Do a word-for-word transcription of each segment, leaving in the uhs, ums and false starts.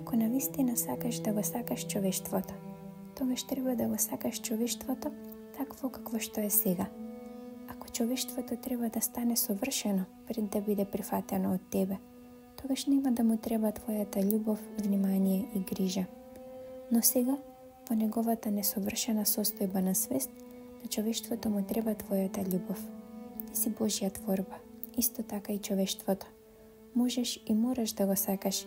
Ако навистина сакаш да го сакаш човештвото, тогаш треба да го сакаш човештвото такво какво што е сега. Ако човештвото треба да стане совршено пред да биде прифатено од тебе, тогаш нема да му треба твојата љубов, внимание и грижа. Но сега, во неговата несовршена состојба на свест, на човештвото му треба твојата љубов. Ти си Божја творба, исто така и човештвото. Можеш и мораш да го сакаш,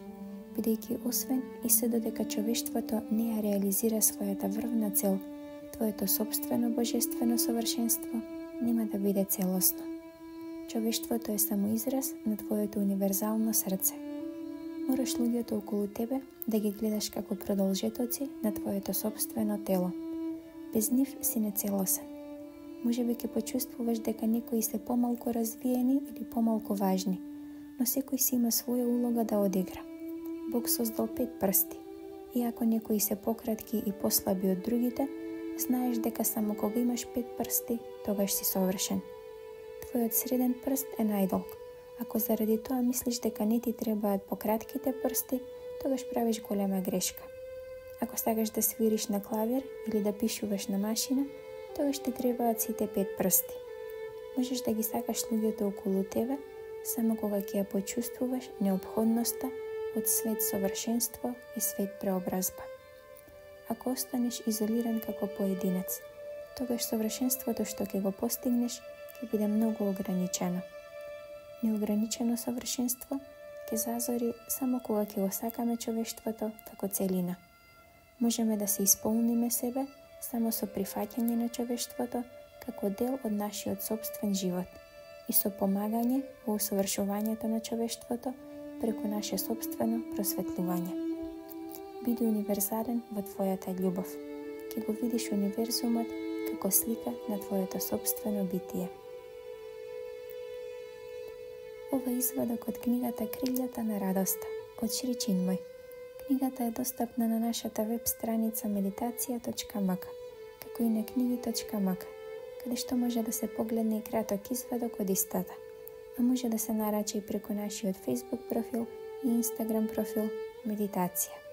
бидејќи освен и се додека човештвото не ја реализира својата врвна цел, твоето собствено божествено совршенство нема да биде целосно. Човештвото е само израз на твоето универзално срце. Мораш луѓето околу тебе да ги гледаш како продолжетоци на твоето собствено тело. Без нив си нецелосен. Можеби ќе почувствуваш дека некои се помалку развиени или помалку важни, но секој си има своја улога да одигра. Бог создал пет прсти. И ако некои се пократки и послаби од другите, знаеш дека само кога имаш пет прсти, тогаш си совршен. Твојот среден прст е најдолг. Ако заради тоа мислиш дека не ти требаат пократките прсти, тогаш правиш голема грешка. Ако сакаш да свириш на клавир или да пишуваш на машина, тогаш ти требаат сите пет прсти. Можеш да ги сакаш луѓето околу тебе, само кога ќе ја почувствуваш неопходноста од свет совршенство и свет преобразба. Ако останеш изолиран како поединец, тогаш совршенството што ќе го постигнеш ќе биде многу ограничено. Неограничено совршенство ќе зазори само кога ќе го сакаме човештвото како целина. Можеме да се исполниме себе само со прифаќање на човештвото како дел од нашиот собствен живот и со помагање во усовршувањето на човештвото преку наше собствено просветлување. Биди универзален во твојата љубов. Ќе го видиш универзумот како слика на твоето собствено битие. Ова е извадок од книгата Крилјата на радоста од Шри Чинмој. Книгата е достапна на нашата веб страница медитација точка ем ка, како и на книги точка ем ка, каде што може да се погледне и краток извадок од истата, а може да се нарача и преку нашиот Facebook профил и Instagram профил Медитација.